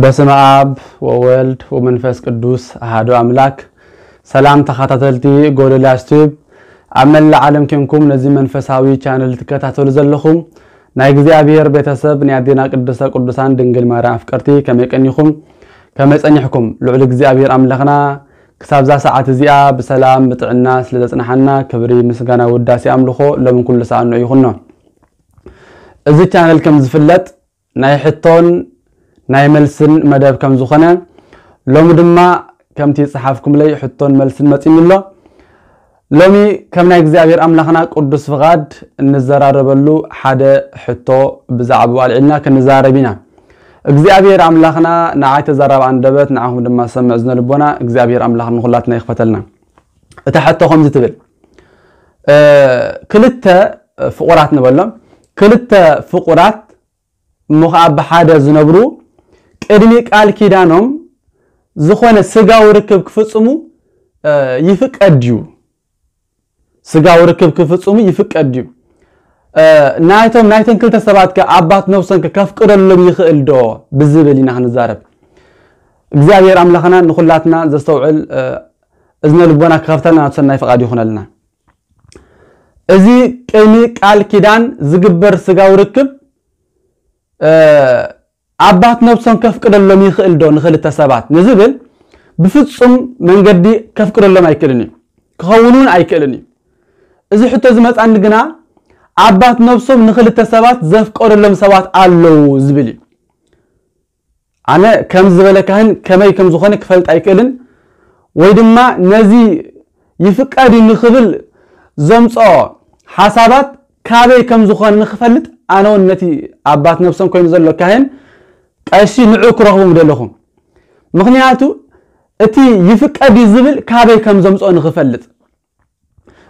በስመ አብ ወወልድ ወመንፈስ ቅዱስ አሐዱ አምላክ። ሰላም ተኸታተልቲ ጎዶልያስ ቲዩብ፣ ኣብ መላእ ዓለም ኬንኩም ነዚ መንፈሳዊ ቻነል ትከታተሉ ዘለኹም ናይ እግዚኣብሔር ቤተሰብ፣ ናይ ኣዴና ቅድስተ ቅዱሳን ድንግል ማርያም ኣፍቀርቲ፣ ከመይ ቀኒኹም? ከመይ ጸኒሕኩም? ልዑል እግዚኣብሔር ኣምላኽና ክሳብዛ ሰዓት እዚኣ ብሰላም ብጥዕና ስለ ዘጽንሓና ክብሪ ምስጋና ውዳሴ ኣምልኾ ሎምን ኩሉ ሰኣኑ ይኹኖ። እዚ ቻነል ከም ዝፍለጥ ናይ ሕቶን ናይ መልስን መደብ ከም ዝኾነ፣ ሎሚ ድማ ከምቲ ዝጸሓፍኩምለይ ሕቶን መልስን መጺኒ ኣሎ። ሎሚ ከም ናይ እግዚኣብሔር ኣምላኽና ቅዱስ ፍቓድ እንዘራረበሉ ሓደ ሕቶ ብዛዕባኡ ኣልዒልና ክንዛረብ ኢና። እግዚኣብሔር ኣምላኽና ንዓይ ተዛራቢ ኣንደበት፣ ንዓኹም ድማ ሰምዕ እዝነ ልቦና እግዚኣብሔር ኣምላኽ ንኹላትና ይኽፈተልና። እታ ሕቶ ከምዚ ትብል፣ እ፣ ክልተ ፍቑራት ንበሎም፣ ክልተ ፍቑራት እሞ ኸዓ ብሓደ ዝነብሩ ቅድሚ ቃል ኪዳኖም ዝኾነ ስጋዊ ርክብ ክፍጽሙ፣ እ፣ ይፍቀድ ድዩ? ስጋዊ ርክብ ክፍጽሙ ይፍቀድ ድዩ? እ፣ ናይቶም፣ ናይተን ክልተ ሰባት ከ ኣባት ነብሶም ከ ከፍቅደሎም ይኽእል ዶ? ብዝብል ኢና ክንዛረብ። እግዚኣብሔር ኣምላኽና ንኹላትና ዘስተውዕል፣ እ፣ እዝነ ልቦና ክኸፍተልና ናብ ሰናይ ፍቓድ ይኹነልና። እዚ ቅድሚ ቃል ኪዳን ዝግበር ስጋዊ ርክብ፣ እ፣ ኣባት ነብሶም ከፍቅደሎም ይኽእል ዶ ንኽልተ ሰባት ንዝብል ብፍጹም መንገዲ ከፍቅደሎም ኣይክእልን እዩ። ክኸውን እውን ኣይክእልን እዩ። እዚ ሕቶ ዝመጻኒ ግና ኣባት ነብሶም ንኽልተ ሰባት ዘፍቀደሎም ሰባት ኣለዉ ዝብል እዩ። ኣነ ከም ዝበለ ካህን ከመይ ከም ዝኾነ ክፈልጥ ኣይክእልን፣ ወይ ድማ ነዚ ይፍቀድ እዩ ንኽብል ዘምጽኦ ሓሳባት ካበይ ከም ዝኾነ ንኽፈልጥ ኣነ እውን ነቲ ኣባት ነብሶም ኮይኑ ዘሎ ካህን ቀሺ ንዑ ክረኽቡ ምደለኹ። ምኽንያቱ እቲ ይፍቀድ እዩ ዝብል ካበይ ከም ዘምጽኦ ንኽፈልጥ።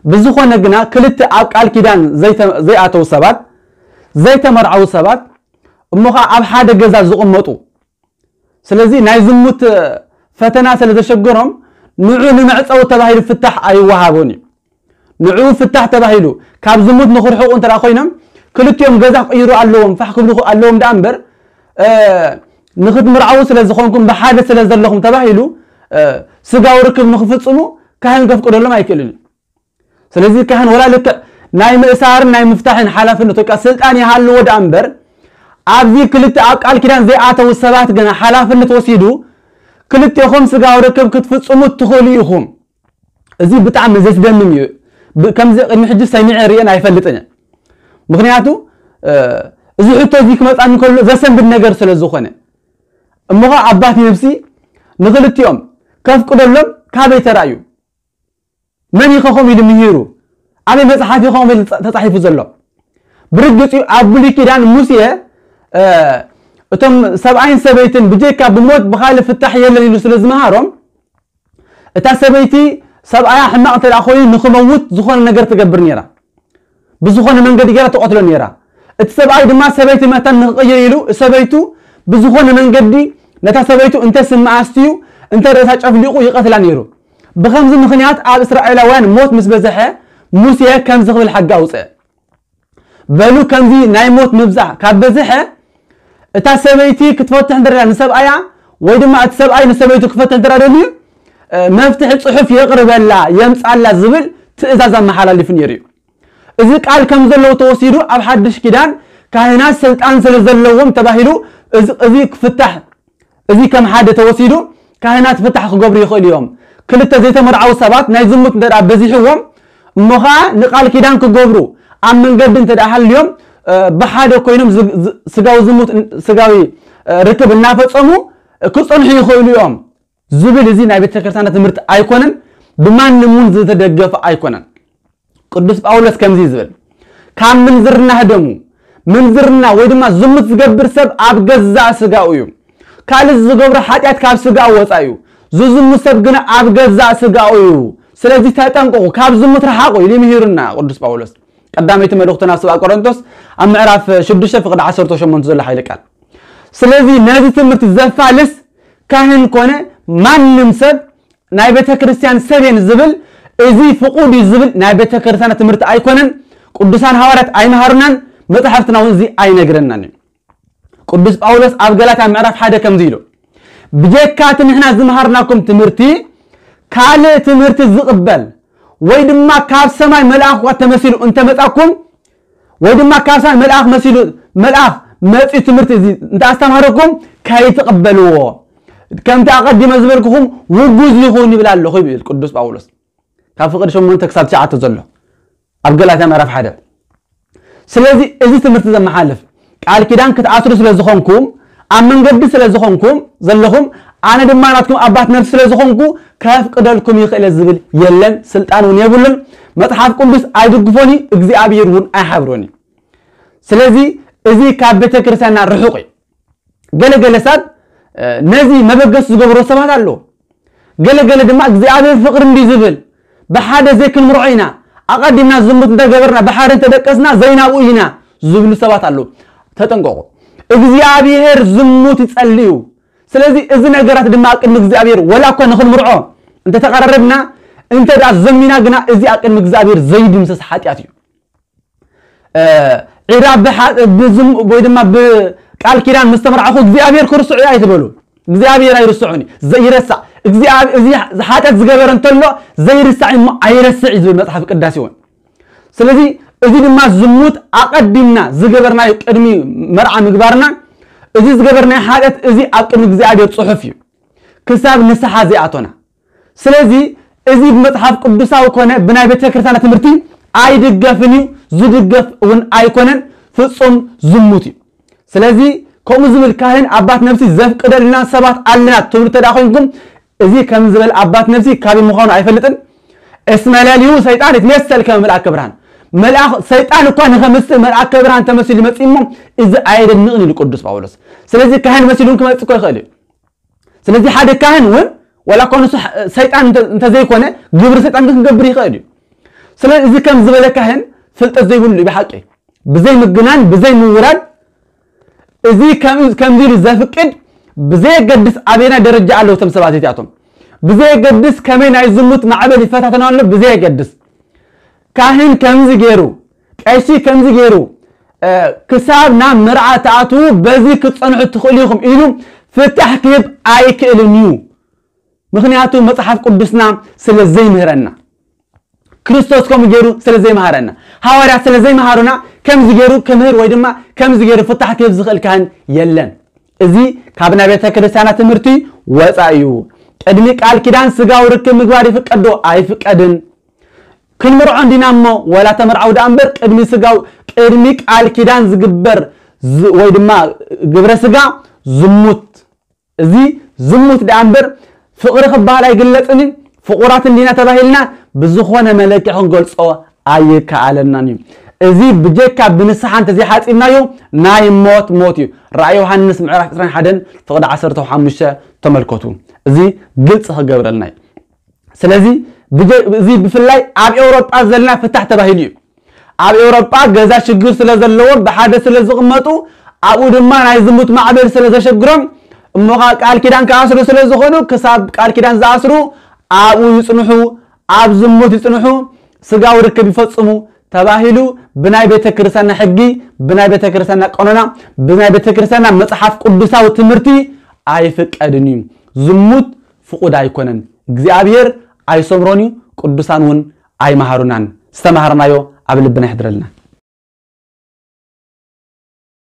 ብዝኾነ ግና ክልተ ኣብ ቃል ኪዳን ዘይተ-፣ ዘይኣተዉ ሰባት፣ ዘይተመርዓዉ ሰባት እሞ ኸዓ ኣብ ሓደ ገዛ ዝቕመጡ፣ ስለዚ ናይ ዝሙት ፈተና ስለ ዘሸገሮም ንዑ ንመዕጸዊ ተባሂሉ ፍታሕ ኣይወሃቦን እዩ። ንዑ ፍታሕ ተባሂሉ ካብ ዝሙት ንኽርሕቑ እንተ ደኣ ኮይኖም ክልቲኦም ገዛ ክቕይሩ ኣለዎም፣ ፋሕ ክብሉ ኣለዎም ደኣ እምበር፣ እ፣ ንኽትምርዓዉ ስለ ዝኾንኩም ብሓደ ስለ ዘለኹም ተባሂሉ፣ እ፣ ስጋዊ ርክብ ንኽፍጽሙ ካህን ከፍቅደሎም ኣይክእልን እዩ። ስለዚ ካህን ወላ ልክዕ ናይ ምእሳርን ናይ ምፍታሕን ሓላፍነት ወይ ከኣ ስልጣን ይሃልዎ ደኣ እምበር፣ ኣብዚ ክልተ ኣብ ቃል ኪዳን ዘይኣተዉ ሰባት ግና ሓላፍነት ወሲዱ ክልቴኹም ስጋዊ ርክብ ክትፍጽሙ ትኽእሉ ኢኹም። እዚ ብጣዕሚ ዘስደምም እዩ። ብ-፣ ከምዚ ቅድሚ ሕጂ ሰሚዐ ርእየን ኣይፈልጥን እየ። ምኽንያቱ፣ እ፣ እዚ ሕቶ እዚ ክመጻኒ ከሎ ዘሰንብድ ነገር ስለ ዝኾነ። እሞ ኸዓ ኣባት ነብሲ ንኽልቲኦም ከፍቅደሎም ካበይ ተራእዩ? መን ኢኸ ከምኡ ኢሉ ምሂሩ? ኣበይ መጽሓፍ ኢኸ ከምኡ ኢሉ ተጻ-፣ ተጻሒፉ ዘሎ? ብርግጽ እዩ፣ ኣብ ብሉይ ኪዳን ሙሴ፣ እ፣ እቶም ሰብኣይን ሰበይትን ብጀካ ብሞት ብኻልእ ፍታሕ የለን ኢሉ ስለ ዝመሃሮም፣ እታ ሰበይቲ ሰብኣያ ሕማቕ እንተ ደኣ ኮይኑ ንኽመውት ዝኾነ ነገር ትገብር ነይራ። ብዝኾነ መንገዲ ገይራ ትቐትሎ ነይራ። እቲ ሰብኣይ ድማ ሰበይቲ መታን ንኽቕይር ኢሉ ሰበይቱ ብዝኾነ መንገዲ ነታ ሰበይቱ እንተ ስምዓ ኣስትዩ፣ እንተ ርእሳ ጨፍሊቑ ይቐትላ ነይሩ። ብኸምዚ ምኽንያት ኣብ እስራኤላውያን ሞት ምስ በዝሐ፣ ሙሴ ከምዚ ክብል ሕጊ ኣውጽአ። በሉ፣ ከምዚ ናይ ሞት ምብዛሕ ካብ በዝሐ፣ እታ ሰበይቲ ክትፈትሕ እንተ ደልያ ንሰብኣያ፣ ወይ ድማ እቲ ሰብኣይ ንሰበይቱ ክፈትሕ እንተ ደልዩ፣ እ፣ መፍትሒ ጽሑፍ የቕርበላ፣ የምጻላ ዝብል ትእዛዝ ኣመሓላሊፉ ነይሩ እዩ። እዚ ቃል ከም ዘለዎ ተወሲዱ ኣብ ሓድሽ ኪዳን ካህናት ስልጣን ስለ ዘለዎም ተባሂሉ እዚ፣ እዚ ክፍታሕ፣ እዚ ከም ሓደ ተወሲዱ ካህናት ፍታሕ ክገብሩ ይኽእሉ እዮም። ክልተ ዘይተመርዓዉ ሰባት ናይ ዝሙት እንተ ደኣ በዚሕዎም እሞ ኸዓ ንቃል ኪዳን ክገብሩ ኣብ መንገዲ እንተ ደኣ ሃልዮም፣ እ፣ ብሓደ ኮይኖም ዝ-፣ ዝ-፣ ስጋዊ ዝሙት፣ ስጋዊ፣ እ፣ ርክብ እናፈጸሙ ክጸንሑ ይኽእሉ እዮም ዝብል እዚ ናይ ቤተ ክርስቲያንና ትምህርቲ ኣይኮነን፣ ብማንም እውን ዝተደገፈ ኣይኮነን። ቅዱስ ጳውሎስ ከምዚ እዩ ዝብል፣ ካብ ምንዝርና ህደሙ። ምንዝርና ወይ ድማ ዝሙት ዝገብር ሰብ ኣብ ገዛእ ስጋኡ እዩ። ካልእ ዝገብሮ ሓጢኣት ካብ ስጋኡ ወጻኢ እዩ። ዝዝሙት ሰብ ግና ኣብ ገዛእ ስጋኡ እዩ። ስለዚ ተጠንቀቑ፣ ካብ ዝሙት ረሓቑ ኢሉ ይምሂሩና ቅዱስ ጳውሎስ። ቀዳመይቲ መልእኽቱ ናብ ሰብኣ ቆሮንቶስ ኣብ ምዕራፍ ሽዱሽተ ፍቕዲ ዓሰርተ ሸሞንተ ዘሎ ሓይሊ ቃል። ስለዚ ነዚ ትምህርቲ ዘፋልስ ካህን ኮነ ማንም ሰብ ናይ ቤተ ክርስቲያን ሰብ እየን ዝብል እዚ ፍቁድ እዩ ዝብል ናይ ቤተ ክርስቲያን ትምህርቲ ኣይኮነን። ቅዱሳን ሃዋርያት ኣይመሃሩናን፣ መጽሓፍትና እውን እዚ ኣይነግረናን እዩ። ቅዱስ ጳውሎስ ኣብ ገላትያ ምዕራፍ ሓደ ከምዚ ኢሉ፣ ብጀካ እቲ ንሕና ዝመሃርናኩም ትምህርቲ ካልእ ትምህርቲ ዝቕበል ወይ ድማ ካብ ሰማይ መልኣኽ እኳ ተመሲሉ እንተመጻኩም ወይ ድማ ካብ ሰማይ መልኣኽ መሲሉ፣ መልኣኽ መጺኡ ትምህርቲ እዚ እንተ ኣስተምሃረኩም ከይትቕበልዎ፣ ከምቲ ኣቐዲመ ዝበልኩኹም ውጉዝ ይኹን ይብል ኣለኹ ይብል ቅዱስ ጳውሎስ። ካብ ፍቕዲ ሸሞንተ ክሳብ ትሽዓተ ዘሎ ኣብ ገላትያ ምዕራፍ ሓደ። ስለዚ እዚ ትምህርቲ ዘመሓልፍ ቃል ኪዳን ክትኣስሩ ስለ ዝኾንኩም፣ ኣብ መንገዲ ስለ ዝኾንኩም ዘለኹም፣ ኣነ ድማ ናትኩም ኣባት ነፍሲ ስለ ዝኾንኩ ከፍቅደልኩም ይኽእል ዝብል የለን፣ ስልጣን እውን የብሉን። መጽሓፍ ቅዱስ ኣይድግፎን እዩ፣ እግዚኣብሔር እውን ኣይሓብሮን እዩ። ስለዚ እዚ ካብ ቤተ ክርስቲያንና ርሑቕ እዩ። ገለ ገለ ሰብ ነዚ መበገስ ዝገብሮ ሰባት ኣለዉ። ገለ ገለ ድማ እግዚኣብሔር ፍቕሪ እንዲ ዝብል ብሓደ ዘይክንምርዖ ኢና፣ ኣቐዲምና ዝሙት እንተገበርና ብሓደ እንተደቀስና ዘይናብኡ ኢና ዝብሉ ሰባት ኣለዉ። ተጠንቀቑ። እግዚኣብሔር ዝሙት ይጸልዩ። ስለዚ እዚ ነገራት ድማ ቅድሚ እግዚኣብሔር ወላ እኳ ንኽንምርዖ እንተተቐራረብና እንተ ደኣ ዘሚና ግና እዚ ኣብ ቅድሚ እግዚኣብሔር ዘይድምሰስ ሓጢኣት እዩ። ዒራ ብሓ- ብዝም- ወይ ድማ ብቃል ኪዳን ምስ ተመርዓኹ እግዚኣብሔር ክርስዑ እዩ ኣይትበሉ። እግዚኣብሔር ኣይርስዑን እዩ። ዘይረሳዕ እግዚኣብ- እዚ ሓጢኣት ዝገበረ እንተሎ ዘይርሳዕ እሞ ኣይረስዕ እዩ ዝብል መጽሓፍ ቅዳሴ እውን። ስለዚ እዚ ድማ ዝሙት ኣቐዲምና ዝገበርናዮ ቅድሚ መርዓ ምግባርና እዚ ዝገበርናዮ ሓጢኣት እዚ ኣብ ቅድሚ እግዚኣብሔር ጽሑፍ እዩ። ክሳብ ንስሓ ዘይኣቶና። ስለዚ እዚ ብመጽሓፍ ቅዱሳዊ ኮነ ብናይ ቤተ ክርስቲያን ትምህርቲ ኣይድገፍን እዩ፣ ዝድገፍ እውን ኣይኮነን፣ ፍጹም ዝሙት እዩ። ስለዚ ከምኡ ዝብል ካህን ኣባት ነፍሲ ዘፍቅደልና ሰባት ኣለና ትብሉ ተዳ ኮይንኩም እዚ ከም ዝበል ኣባት ነፍሲ ካበይ ምዃኑ ኣይፈልጥን። እስመ ለሊሁ ሰይጣን ይትመሰል ከመ መልአከ ብርሃን። መልኣኽ ሰይጣን እኳ ንኸምስል መልኣከ ብርሃን ተመሲሉ ይመጽእ እሞ እዚ ኣየደንቕን ኢሉ ቅዱስ ጳውሎስ። ስለዚ ካህን መሲሉን ክመጽእ እኮ ይኽእል እዩ። ስለዚ ሓደ ካህን እውን ዋላ እኳ ንሱ ሰይጣን እንተ- እንተዘይኮነ ግብሪ ሰይጣን ግን ክገብር ይኽእል እዩ። ስለዚ እዚ ከም ዝበለ ካህን ፍልጠት ዘይብሉ እዩ ብሓቂ። ብዘይ ምግናን ብዘይ ምውራድ እዚ ከም- ከምዚ ኢሉ ዘፍቅድ ብዘየገድስ ኣበየናይ ደረጃ ኣለዉ እቶም ሰባት እዚኣቶም ብዘየገድስ ከመይ ናይ ዝሙት ማዕበል ይፈታተና ኣሎ ብዘየገድስ ካህን ከምዚ ገይሩ ቀሺ ከምዚ ገይሩ ክሳብ ናብ መርዓ ትኣትዉ በዚ ክትጸንሑ ትኽእሉ ኢኹም ኢሉ ፍታሕ ክህብ ኣይክእልን እዩ። ምኽንያቱ መጽሓፍ ቅዱስና ስለ ዘይምህረና፣ ክርስቶስ ከምኡ ገይሩ ስለ ዘይመሃረና፣ ሃዋርያት ስለ ዘይመሃሩና ከምዚ ገይሩ ክምህር ወይ ድማ ከምዚ ገይሩ ፍታሕ ክህብ ዝኽእል ካህን የለን። እዚ ካብ ናይ ቤተ ክርስቲያና ትምህርቲ ወፃ እዩ። ቅድሚ ቃል ኪዳን ስጋዊ ርክብ ምግባር ይፍቀዶ ኣይፍቀድን? ክንምርዖ እንዲና እሞ ወላ ተመርዓው ደኣ እምበር ቅድሚ ስጋው ቅድሚ ቃል ኪዳን ዝግበር ዝ- ወይ ድማ ግብረ ስጋ ዝሙት። እዚ ዝሙት ደኣ እምበር ፍቕሪ ክበሃል ኣይግለጽን እዩ። ፍቑራት እንዲና ተባሂልና ብዝኾነ መለክዒ ክንገልጾ ኣይከኣለናን እዩ። እዚ ብጀካ ብንስሓ እንተዘይሓጺብናዮ ናይ ሞት ሞት እዩ። ራእይ ዮሃንስ ምዕራፍ ዕስራን ሓደን ፍቕዲ ዓሰርተ ሓሙሽተ ተመልከቱ። እዚ ግልጽ ክገብረልና እዩ። ስለዚ ብጀ- እዚ ብፍላይ ኣብ ኤውሮጳ ዘለና ፍታሕ ተባሂሉ እዩ። ኣብ ኤውሮጳ ገዛ ሽግር ስለ ዘለዎም ብሓደ ስለ ዝቕመጡ ኣብኡ ድማ ናይ ዝሙት ማዕበል ስለ ዘሸግሮም እሞ ኸዓ ቃል ኪዳን ክኣስሩ ስለ ዝኾኑ ክሳብ ቃል ኪዳን ዝኣስሩ ኣብኡ ይጽንሑ፣ ኣብ ዝሙት ይጽንሑ፣ ስጋዊ ርክብ ይፈጽሙ ተባሂሉ ብናይ ቤተ ክርስቲያንና ሕጊ ብናይ ቤተ ክርስቲያንና ቀኖና ብናይ ቤተ ክርስቲያንና መጽሓፍ ቅዱሳዊ ትምህርቲ ኣይፍቀድን እዩ። ዝሙት ፍቑድ ኣይኮነን። እግዚኣብሔር ኣይሰምሮን እዩ፣ ቅዱሳን እውን ኣይመሃሩናን። ዝተማሃርናዮ ኣብ ልብና ይሕድረልና።